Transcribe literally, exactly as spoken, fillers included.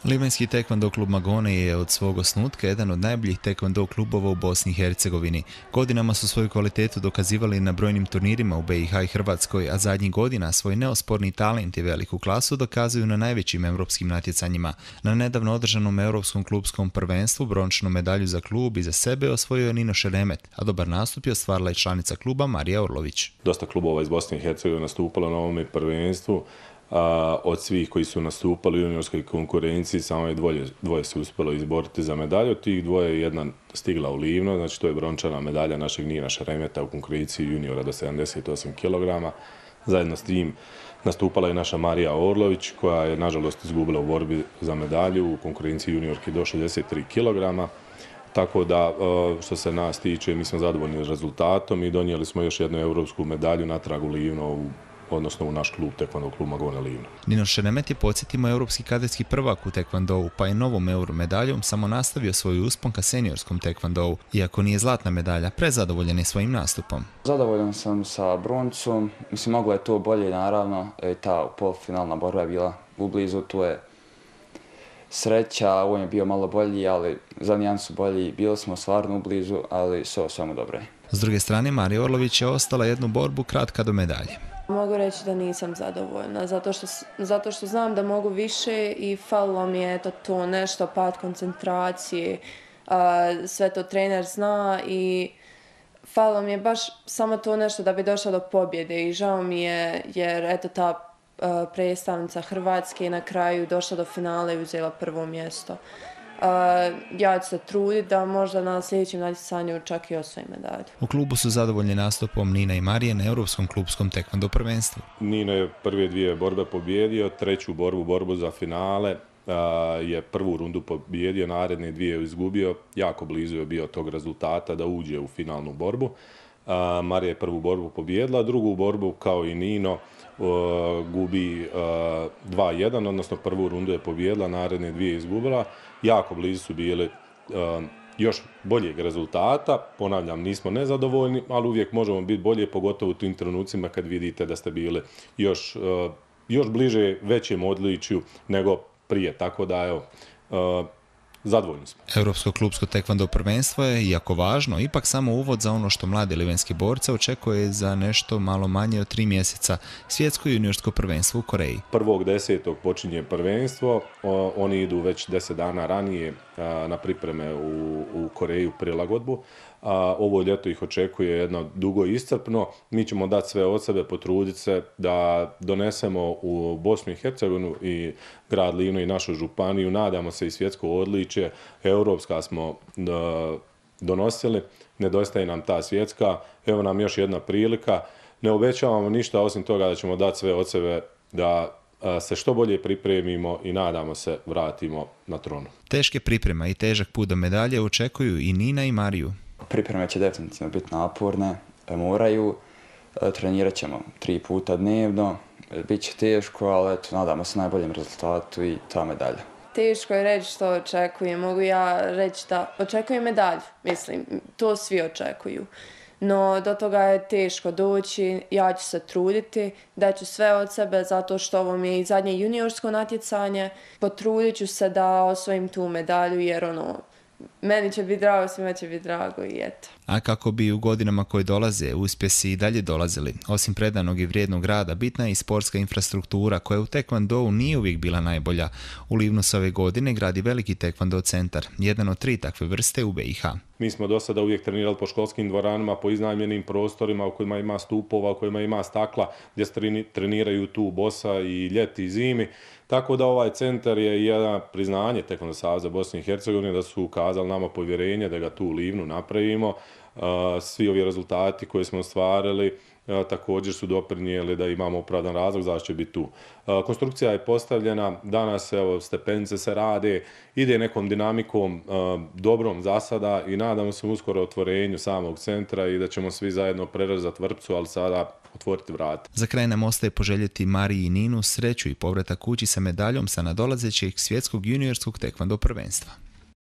Livanjski tekvando klub Magone je od svog osnutka jedan od najboljih tekvando klubova u Bosni i Hercegovini. Godinama su svoju kvalitetu dokazivali na brojnim turnirima u B i H i Hrvatskoj, a zadnjih godina svoj neosporni talent i veliku klasu dokazuju na najvećim europskim natjecanjima. Na nedavno održanom europskom klubskom prvenstvu brončanu medalju za klub i za sebe osvojio je Nino Šeremet, a dobar nastup je ostvarila i članica kluba Marija Orlović. Dosta klubova iz Bosne i Hercegovine nastupalo na ovome prvenstvu. A, od svih koji su nastupali u juniorskoj konkurenciji samo je dvoje, dvoje se uspjelo izboriti za medalju. Od tih dvoje je jedna stigla u Livno, znači to je brončana medalja našeg Nina Šeremeta u konkurenciji juniora do sedamdeset osam kilograma. Zajedno s tim nastupala je naša Marija Orlović koja je nažalost izgubila u borbi za medalju u konkurenciji juniorki do šezdeset tri kilograma. Tako da, što se nas tiče, mi smo zadovoljni rezultatom i donijeli smo još jednu europsku medalju natrag u Livno, u odnosno u naš klub tekvando klub Magone Livno. Nino Šeremet je, podsjetimo, europski kadetski prvak u tekvandou, pa je novom euro medaljom samo nastavio svoj uspon ka seniorskom tekvandou. Iako nije zlatna medalja, prezadovoljan je svojim nastupom. Zadovoljan sam sa broncom, mislim moglo je to bolje naravno, e, ta polufinalna borba je bila ublizu, tu je sreća, on je bio malo bolji, ali za nijansu bolji, bili smo stvarno ublizu, ali sve samo dobro je. S druge strane, Marija Orlović je ostala jednu borbu kratka do medalje. Mogu reći da nisam zadovoljna, zato što, zato što znam da mogu više i falilo mi je to, to nešto, pad koncentracije, a, sve to trener zna i falilo mi je baš samo to nešto da bi došla do pobjede i žao mi je jer eto ta a, predstavnica Hrvatske na kraju došla do finala i uzela prvo mjesto. Uh, ja ću se truditi da možda na sljedećem natjecanju čak i osvojim medalju. U klubu su zadovoljni nastupom Nina i Marije na europskom klubskom tekvando prvenstvu. Nino je prve dvije borbe pobjedio, treću borbu, borbu za finale, uh, je prvu rundu pobjedio, naredne dvije je izgubio, jako blizu je bio tog rezultata da uđe u finalnu borbu. Uh, Marija je prvu borbu pobjedila, drugu borbu kao i Nino uh, gubi uh, dva jedan, odnosno prvu rundu je pobjedila, naredne dvije je izgubila. Jako blizu su bili uh, još boljeg rezultata, ponavljam, nismo nezadovoljni, ali uvijek možemo biti bolje, pogotovo u tim trenucima kad vidite da ste bili još, uh, još bliže većem odličju nego prije, tako da evo, uh, zadovoljni smo. Europsko klubsko tekvando prvenstvo je, iako važno, ipak samo uvod za ono što mlade livanjske borce očekuje za nešto malo manje od tri mjeseca, svjetsko juniorsko prvenstvo u Koreji. Prvog desetog počinje prvenstvo, o, oni idu već deset dana ranije a, na pripreme u, u Koreju prilagodbu. A, ovo ljeto ih očekuje jedno dugo i iscrpno. Mi ćemo dati sve od sebe, potruditi se da donesemo u Bosnu i Hercegovinu i grad Livno i našu županiju. Nadamo se i svjetsko odličje. Europska smo da, donosili. Nedostaje nam ta svjetska. Evo nam još jedna prilika. Ne obećavamo ništa osim toga da ćemo dati sve od sebe da se što bolje pripremimo i nadamo se vratimo na tronu. Teške priprema i težak put do medalje očekuju i Nina i Mariju. Pripreme će definitivno biti naporne, moraju, trenirat ćemo tri puta dnevno, bit će teško, ali eto, nadamo se najboljem rezultatu i ta medalja. Teško je reći što očekujem, mogu ja reći da očekujem medalju, mislim, to svi očekuju. No, do toga je teško doći, ja ću se truditi, daću sve od sebe zato što ovo mi je i zadnje juniorsko natjecanje. Potrudit ću se da osvojim tu medalju jer ono, meni će biti drago, svima će biti drago i eto. A kako bi u godinama koje dolaze uspjesi i dalje dolazili, osim predanog i vrijednog rada, bitna je i sportska infrastruktura koja u tekvandou nije uvijek bila najbolja. U Livnu se ove godine gradi veliki tekvando centar, jedan od tri takve vrste u B i H. Mi smo do sada uvijek trenirali po školskim dvoranama, po iznajmljenim prostorima u kojima ima stupova, u kojima ima stakla, gdje se treniraju tu bosa i ljeti i zimi. Tako da ovaj centar je jedno priznanje Tekvando saveza Bosne i Hercegovine da su ukazali nama povjerenje da ga tu u Livnu napravimo. Svi ovi rezultati koje smo ostvarili također su doprinijeli da imamo opravdan razlog zašto će biti tu. Konstrukcija je postavljena, danas evo, stepenice se rade, ide nekom dinamikom dobrom za sada i nadamo se uskoro otvorenju samog centra i da ćemo svi zajedno prerezati vrpcu, ali sada otvoriti vrata. Za kraj nam ostaje poželjeti Mariji i Ninu sreću i povratak kući sa medaljom sa nadolazećeg svjetskog juniorskog tekvando prvenstva.